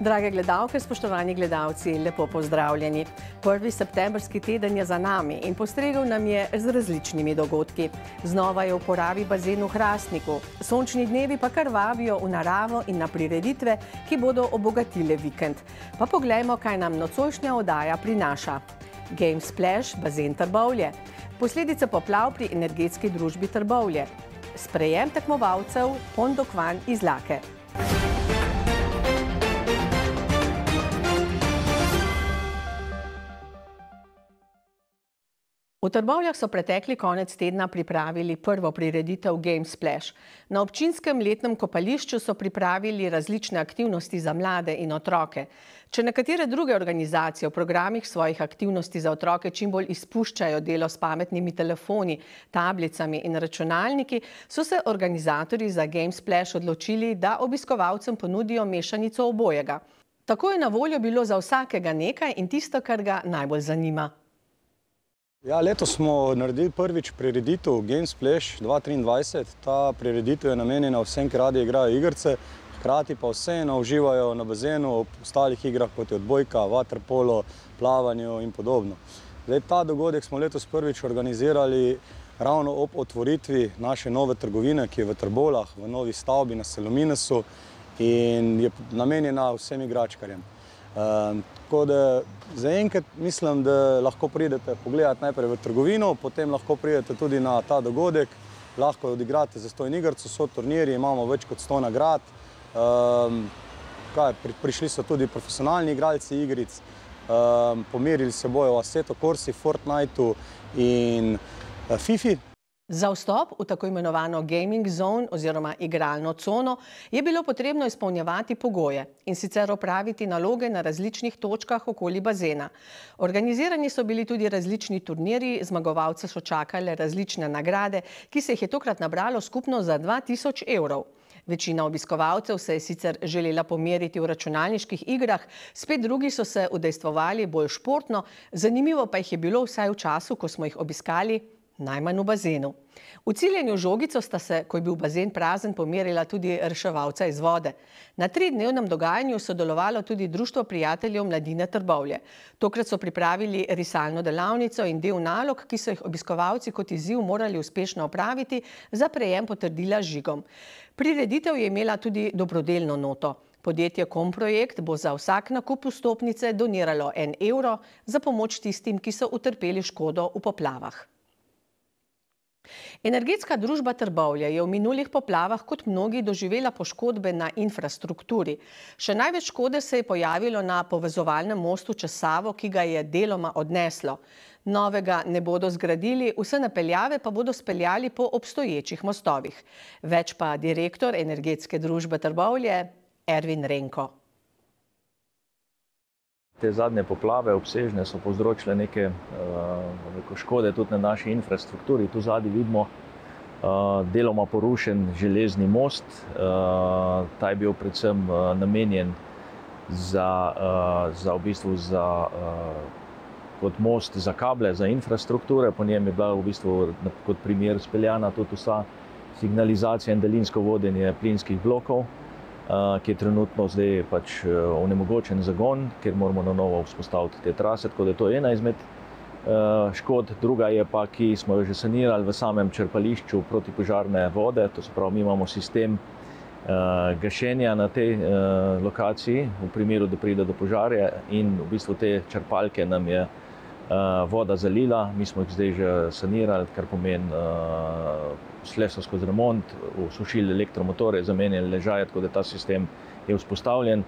Drage gledalke, spoštovani gledalci, lepo pozdravljeni. 1. septembrski teden je za nami in postregel nam je z različnimi dogodki. Znova je v uporabi bazen v Hrastniku. Sončni dnevi pa kar vabijo v naravo in na prireditve, ki bodo obogatile vikend. Pa poglejmo, kaj nam nocojšnja oddaja prinaša. Game Splash, bazen Trbovlje. Posledice poplav pri energetski družbi Trbovlje. Sprejem tekmovalcev Pondokvan iz Lake. V Trbovljah so pretekli konec tedna pripravili prvo prireditev Game Splash. Na občinskem letnem kopališču so pripravili različne aktivnosti za mlade in otroke. Če nekatere druge organizacije v programih svojih aktivnosti za otroke čim bolj izpuščajo delo s pametnimi telefoni, tablicami in računalniki, so se organizatorji za Game Splash odločili, da obiskovalcem ponudijo mešanico obojega. Tako je na voljo bilo za vsakega nekaj in tisto, kar ga najbolj zanima. Ja, letos smo naredili prvič prireditev Game Splash 2023. Ta prireditev je namenjena vsem, ki radi igrajo igrice, hkrati pa vseeno uživajo na bazenu ob ostalih igrah, kot je odbojka, vaterpolo, plavanju in podobno. Ta dogodek smo letos prvič organizirali ravno ob otvoritvi naše nove trgovine, ki je v Trbovljah, v novi stavbi na Selominesu in je namenjena vsem igračkarjem. Tako da zaenkrat mislim, da lahko pridete pogledati najprej v trgovino, potem lahko pridete tudi na ta dogodek, lahko odigrate zastonj igrico, so turnirji, imamo več kot 100 nagrad. Prišli so tudi profesionalni igralci igric, pomerili se bojo v Assetto Corsi, Fortniteu in Fifi. Za vstop v tako imenovano gaming zone oziroma igralno cono je bilo potrebno izpolnjevati pogoje in sicer opraviti naloge na različnih točkah okoli bazena. Organizirani so bili tudi različni turnirji, zmagovalce so čakale različne nagrade, ki se jih je tokrat nabralo skupno za 2000 evrov. Večina obiskovalcev se je sicer želela pomeriti v računalniških igrah, spet drugi so se udejstvovali bolj športno, zanimivo pa jih je bilo vsaj v času, ko smo jih obiskali, najmanj v bazenu. V ciljenju žogico sta se, ko je bil bazen prazen, pomerila tudi reševalca iz vode. Na 3-dnevnem dogajanju sodelovalo tudi Društvo prijateljev mladine Trbovlje. Tokrat so pripravili risalno delavnico in del nalog, ki so jih obiskovalci kot izziv morali uspešno opraviti za prejem potrdila z žigom. Prireditev je imela tudi dobrodelno noto. Podjetje Komprojekt bo za vsak nakup vstopnice doniralo 1 evro za pomoč tistim, ki so utrpeli škodo v poplavah. Energetska družba Trbovlje je v minulih poplavah kot mnogi doživela poškodbe na infrastrukturi. Še največ škode se je pojavilo na povezovalnem mostu čez Savo, ki ga je deloma odneslo. Novega ne bodo zgradili, vse napeljave pa bodo speljali po obstoječih mostovih. Več pa direktor Energetske družbe Trbovlje Ervin Renko. Te zadnje poplave obsežne so povzročile neke škode tudi na naši infrastrukturi. Tu zadaj vidimo deloma porušen železni most. Ta je bil predvsem namenjen kot most za kable, za infrastrukture. Po njem je bila v bistvu kot primer speljana tudi vsa signalizacija in daljinsko vodenje plinskih blokov, ki je trenutno zdaj onemogočen zagon, ker moramo na novo vzpostaviti te trase, tako da to je ena izmed škod. Druga je pa, ki smo jo že sanirali v samem črpališču protipožarne vode, to se pravi, mi imamo sistem gašenja na tej lokaciji v primeru, da pride do požarja in v bistvu te črpalke nam je voda zalila, mi smo jih zdaj že sanirali, kar pomeni šle so skozi remont, usušili elektromotore, zamenjali ležaje, tako da ta sistem je vzpostavljen.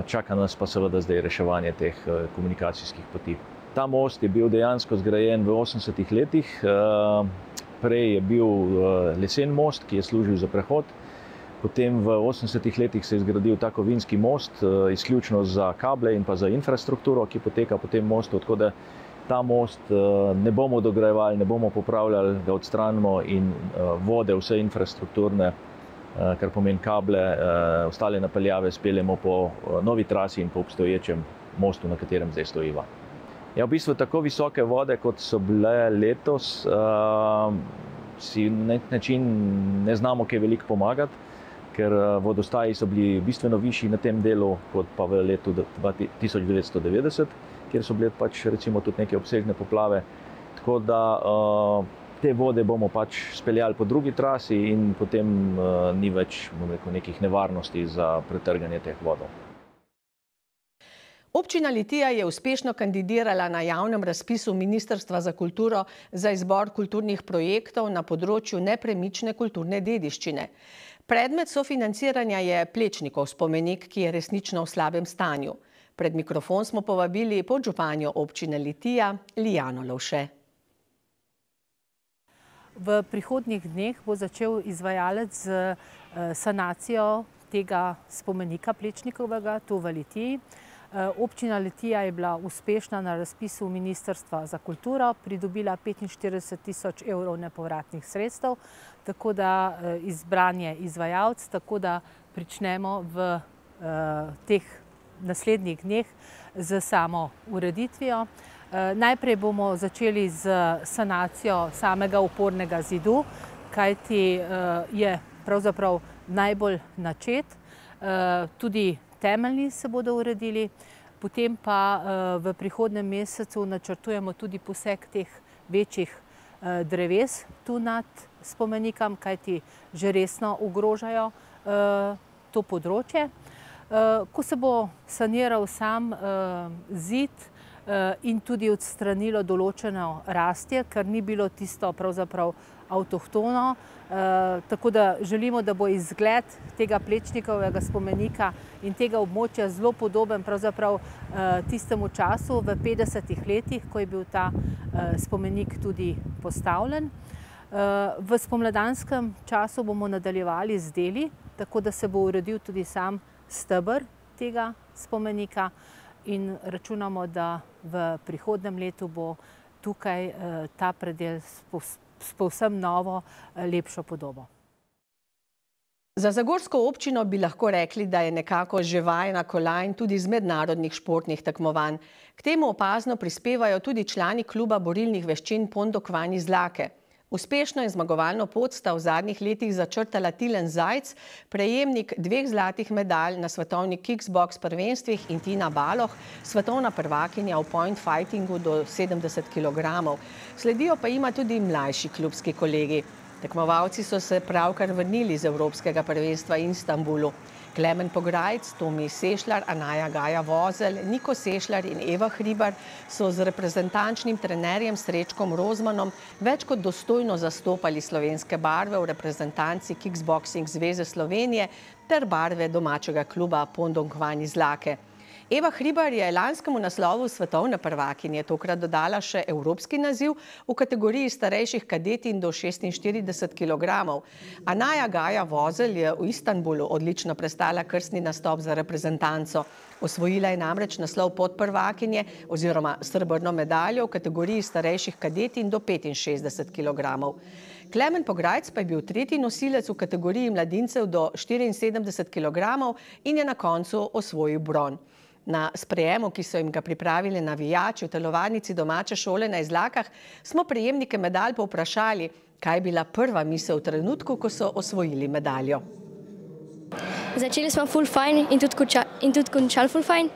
Čaka nas pa seveda zdaj reševanje teh komunikacijskih poti. Ta most je bil dejansko zgrajen v 80-ih letih. Prej je bil lesen most, ki je služil za prehod. Potem v 80-ih letih se je zgradil ta kovinski most, izključno za kable in pa za infrastrukturo, ki poteka po tem mostu, tako da ta most ne bomo dograjevali, ne bomo popravljali, ga odstranimo in vode, vse infrastrukturne, kar pomeni kable, ostale napeljave speljemo po novi trasi in po obstoječem mostu, na katerem zdaj stojiva. Ja, v bistvu tako visoke vode, kot so bile letos, si na nek način ne znamo kaj veliko pomagati, ker vodostaji so bili bistveno višji na tem delu kot pa v letu 1990, kjer so bile pač recimo tudi neke obsežne poplave. Tako da te vode bomo pač speljali po drugi trasi in potem ni več, bom rekel, nekih nevarnosti za pretrganje teh vodov. Občina Litija je uspešno kandidirala na javnem razpisu Ministrstva za kulturo za izbor kulturnih projektov na področju nepremične kulturne dediščine. Predmet sofinanciranja je Plečnikov spomenik, ki je resnično v slabem stanju. Pred mikrofon smo povabili podžupanjo občine Litija, Lijano Lovše. V prihodnjih dneh bo začel izvajalec z sanacijo tega spomenika Plečnikovega tu v Litiji. Občina Litija je bila uspešna na razpisu Ministrstva za kulturo, pridobila 45 000 evrov nepovratnih sredstev, tako da izbran je izvajalec, tako da pričnemo v teh naslednjih dneh z samo ureditvijo. Najprej bomo začeli z sanacijo samega opornega zidu, kajti je pravzaprav najbolj načet, tudi temeljni se bodo uredili, potem pa v prihodnjem mesecu načrtujemo tudi poseg teh večjih dreves tu nad spomenikom, kajti že resno ogrožajo to področje. Ko se bo saniral sam zid in tudi odstranilo določeno rastje, ker ni bilo tisto pravzaprav avtohtono, tako da želimo, da bo izgled tega Plečnikovega spomenika in tega območja zelo podoben pravzaprav tistemu času v 50. letih, ko je bil ta spomenik tudi postavljen. V spomladanskem času bomo nadaljevali z deli, tako da se bo uredil tudi sam steber tega spomenika in računamo, da v prihodnjem letu bo tukaj ta predel s povsem novo, lepšo podobo. Za zagorsko občino bi lahko rekli, da je nekako že vajena kolajn tudi z mednarodnih športnih tekmovanj. K temu opazno prispevajo tudi člani kluba borilnih veščin Pondokvanj iz Lake. Uspešno in zmagovalno pot sta v zadnjih letih začrtala Tilen Zajc, prejemnik 2 zlatih medalj na svetovnih kickboks prvenstvih, in Tina Baloh, svetovna prvakinja v point fightingu do 70 kg. Sledijo pa ima tudi mlajši klubski kolegi. Tekmovalci so se pravkar vrnili z Evropskega prvenstva v Istanbulu. Klemen Pograjc, Tomi Sešljar, Anaja Gaja Vozelj, Niko Sešljar in Eva Hribar so z reprezentančnim trenerjem Srečkom Rozmanom več kot dostojno zastopali slovenske barve v reprezentanci Kickboxing zveze Slovenije ter barve domačega kluba Pondokvanj iz Lake. Eva Hribar je lanskemu naslovu svetovne prvakinje tokrat dodala še evropski naziv v kategoriji starejših kadetinj do 46 kg. Anaja Gaja Vozelj je v Istanbulu odlično prestala krstni nastop za reprezentanco. Osvojila je namreč naslov podprvakinje oziroma srebrno medaljo v kategoriji starejših kadetinj do 65 kg. Klemen Pograjc pa je bil tretji nosilec v kategoriji mladincev do 74 kg in je na koncu osvojil bron. Na sprejemu, ki so jim ga pripravili navijači v telovadnici domače šole na Izlakah, smo prejemnike medalj povprašali, kaj je bila prva misel v trenutku, ko so osvojili medaljo. Začeli smo ful fajn in tudi končali ful fajn.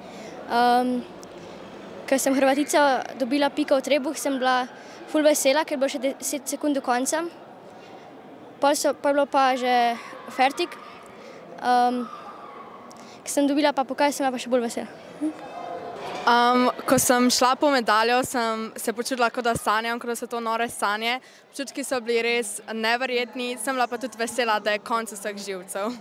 Ko sem Hrvatica dobila piko v trebuh, sem bila ful vesela, ker bo še 10 sekund do konca. Pa je bilo pa že fertik. Ko sem dobila pa pokal, sem pa še bolj vesela. Ko sem šla po medaljo, sem se počutila, kot da sanjam, kot da so to nore sanje. Občutki so bili res neverjetni, sem bila pa tudi vesela, da je konec vseh živcev.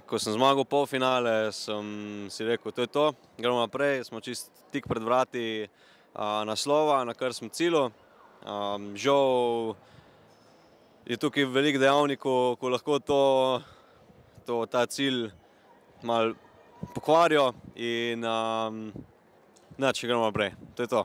Ko sem zmagal polfinale, sem si rekel, to je to, gremo naprej, smo čist tik pred vrati naslova, na kar smo cilju. Žal je tukaj veliko dejavnikov, ko lahko ta cilj malo pokvarijo in če gremo naprej, to je to.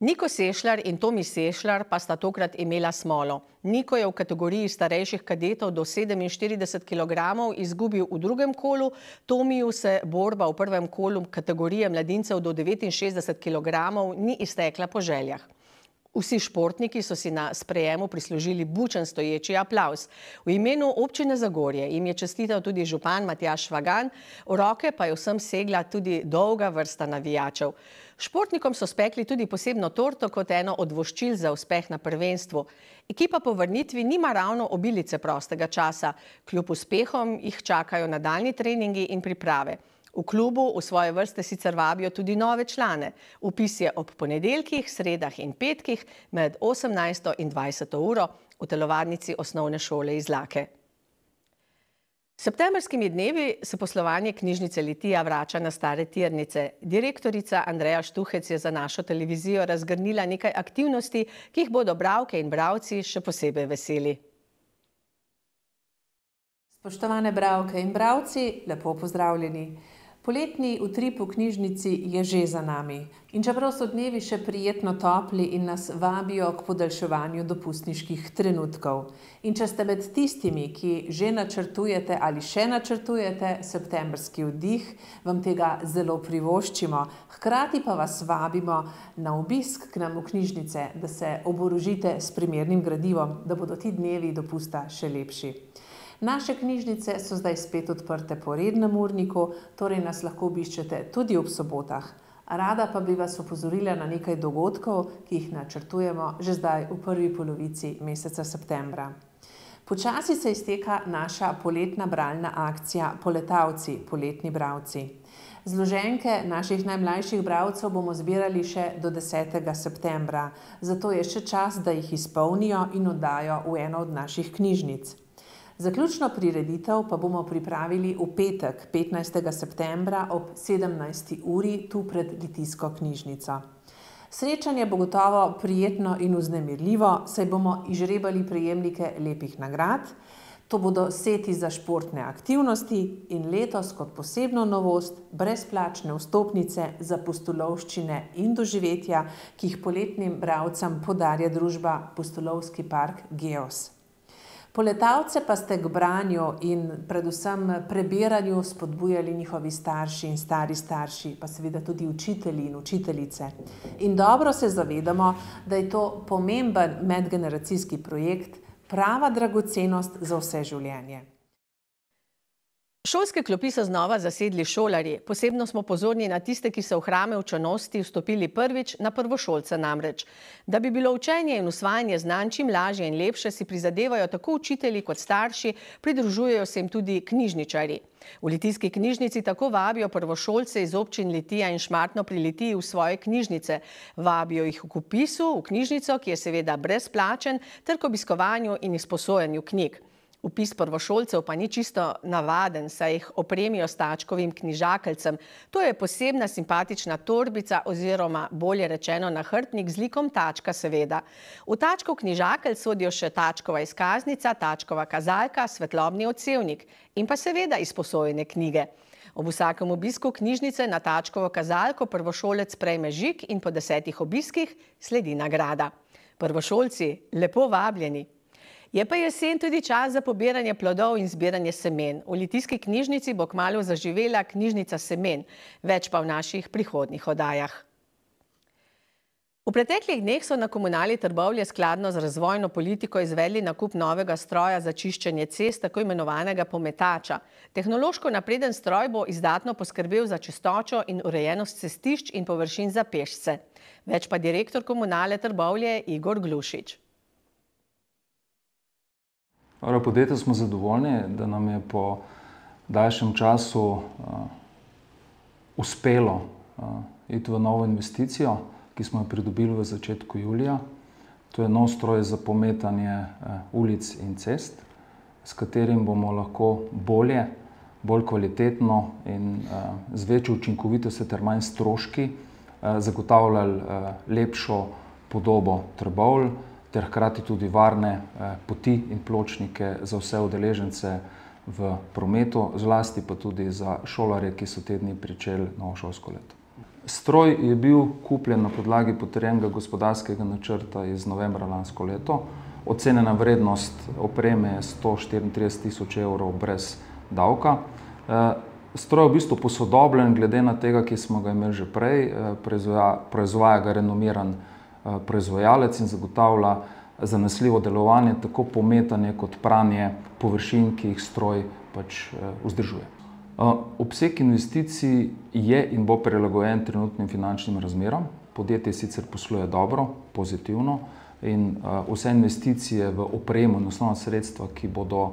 Niko Sešljar in Tomi Sešljar pa sta tokrat imela smolo. Niko je v kategoriji starejših kadetov do 47 kg izgubil v drugem kolu, Tomiju se borba v prvem kolu kategorije mladincev do 69 kg ni iztekla po željah. Vsi športniki so si na sprejemu prislužili bučen stoječi aplavz. V imenu občine Zagorje jim je čestital tudi župan Matjaž Švagan, v roke pa je vsem segla tudi dolga vrsta navijačev. Športnikom so spekli tudi posebno torto kot eno od voščil za uspeh na prvenstvu. Ekipa po vrnitvi nima ravno obilice prostega časa. Kljub uspehom jih čakajo nadaljnji treningi in priprave. V klubu v svoje vrste sicer vabijo tudi nove člane. Vpis je ob ponedeljkih, sredah in petkih med 18. in 20. uro v telovadnici osnovne šole Izlake. S septembrskimi dnevi se poslovanje knjižnice Litija vrača na stare tirnice. Direktorica Andreja Štuhec je za našo televizijo razgrnila nekaj aktivnosti, ki jih bodo bralke in bralci še posebej veseli. Spoštovane bralke in bralci, lepo pozdravljeni. Poletni utrip v knjižnici je že za nami. In čeprav so dnevi še prijetno topli in nas vabijo k podaljševanju dopustniških trenutkov. In če ste med tistimi, ki že načrtujete ali še načrtujete septembrski oddih, vam tega zelo privoščimo. Hkrati pa vas vabimo na obisk k nam v knjižnice, da se oborožite s primernim gradivom, da bodo ti dnevi dopusta še lepši. Naše knjižnice so zdaj spet odprte po rednem urniku, torej nas lahko obiščete tudi ob sobotah. Rada pa bi vas opozorila na nekaj dogodkov, ki jih načrtujemo že zdaj v prvi polovici meseca septembra. Počasi se izteka naša poletna bralna akcija Poletavci, poletni bralci. Zloženke naših najmlajših bralcev bomo zbirali še do 10. septembra, zato je še čas, da jih izpolnijo in oddajo v eno od naših knjižnic. Zaključno prireditev pa bomo pripravili v petek, 15. septembra ob 17. uri tu pred Litijsko knjižnico. Srečanje bo gotovo prijetno in vznemirljivo, saj bomo izžrebali prejemnike lepih nagrad. To bodo seti za športne aktivnosti in letos kot posebno novost brezplačne vstopnice za pustolovščine in doživetja, ki jih poletnim bralcem podarja družba Pustolovski park Geos. Poletavce pa ste k branju in predvsem prebiranju spodbujali njihovi starši in stari starši, pa seveda tudi učitelji in učiteljice. In dobro se zavedamo, da je to pomemben medgeneracijski projekt, prava dragocenost za vse življenje. Šolske klopi so znova zasedli šolarji. Posebno smo pozorni na tiste, ki so v hrame učenosti vstopili prvič, na prvošolce namreč. Da bi bilo učenje in usvajanje znanj čim lažje in lepše, si prizadevajo tako učitelji kot starši, pridružujejo se jim tudi knjižničarji. V Litijski knjižnici tako vabijo prvošolce iz občin Litija in Šmartno pri Litiji v svoje knjižnice. Vabijo jih k vpisu v knjižnico, ki je seveda brezplačen, ter k obiskovanju in izposojanju knjig. Vpis prvošolcev pa ni čisto navaden, saj jih opremijo s tačkovim knjižakeljcem. To je posebna simpatična torbica oziroma bolje rečeno nahrbtnik z likom tačka seveda. V tačkov knjižakelj sodijo še tačkova izkaznica, tačkova kazalka, svetlobni odsevnik in pa seveda izposojene knjige. Ob vsakem obisku knjižnice na tačkovo kazalko prvošolec prejme žig in po 10 obiskih sledi nagrada. Prvošolci, lepo vabljeni! Je pa jesen tudi čas za pobiranje plodov in zbiranje semen. V Litijski knjižnici bo kmalu zaživela knjižnica semen, več pa v naših prihodnjih oddajah. V preteklih dneh so na Komunali Trbovlje skladno z razvojno politiko izvedli nakup novega stroja za čiščenje cest, tako imenovanega pometača. Tehnološko napreden stroj bo izdatno poskrbel za čistočo in urejenost cestišč in površin za pešce. Več pa direktor Komunale Trbovlje Igor Glušič. Podjetje smo zadovoljni, da nam je po daljšem času uspelo iti v novo investicijo, ki smo jo pridobili v začetku julija. To je nov stroj za pometanje ulic in cest, s katerim bomo lahko bolje, bolj kvalitetno in z večjo učinkovitostjo ter manj stroški zagotavljali lepšo podobo Trbovlj, ter hkrati tudi varne poti in pločnike za vse udeležence v prometu, zlasti pa tudi za šolarje, ki so te dni pričeli novo šolsko leto. Stroj je bil kupljen na podlagi potrjenega gospodarskega načrta iz novembra lansko leto. Ocenjena vrednost opreme je 134.000 evrov brez davka. Stroj je v bistvu posodobljen glede na tega, ki smo ga imeli že prej, proizvaja ga renomiran proizvajalec in zagotavlja zanesljivo delovanje, tako pometanje kot pranje površin, ki jih stroj pač vzdržuje. Obseg investicij je in bo prilagojen trenutnim finančnim razmeram. Podjetje sicer posluje dobro, pozitivno in vse investicije v opremo in osnovna sredstva, ki bodo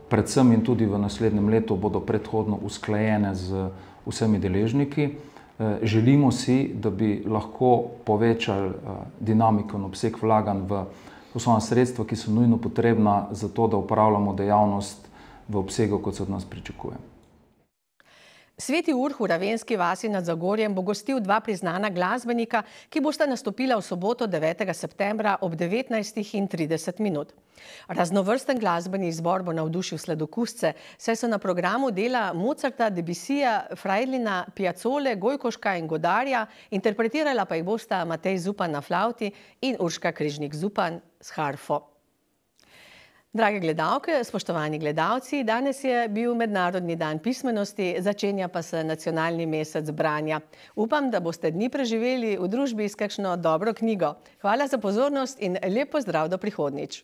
predvsem in tudi v naslednjem letu bodo predhodno usklajene z vsemi deležniki. Želimo si, da bi lahko povečali dinamiko in obseg vlaganj v osnovna sredstva, ki so nujno potrebna za to, da upravljamo dejavnost v obsegu, kot se od nas pričakuje. Sveti Urh v Ravenski vasi nad Zagorjem bo gostil dva priznana glasbenika, ki bosta nastopila v soboto 9. septembra ob 19:30. Raznovrsten glasbeni izbor bo navdušil sladokusce, saj so na programu dela Mozarta, Debussija, Freidlina, Piazzole, Gojkoška in Godarja, interpretirala pa jih bosta Matej Zupan na flavti in Urška Križnik Zupan s harfo. Drage gledalke, spoštovani gledalci, danes je bil Mednarodni dan pismenosti, začenja pa se nacionalni mesec branja. Upam, da boste dni preživeli v družbi s kakšno dobro knjigo. Hvala za pozornost in lep pozdrav do prihodnjič.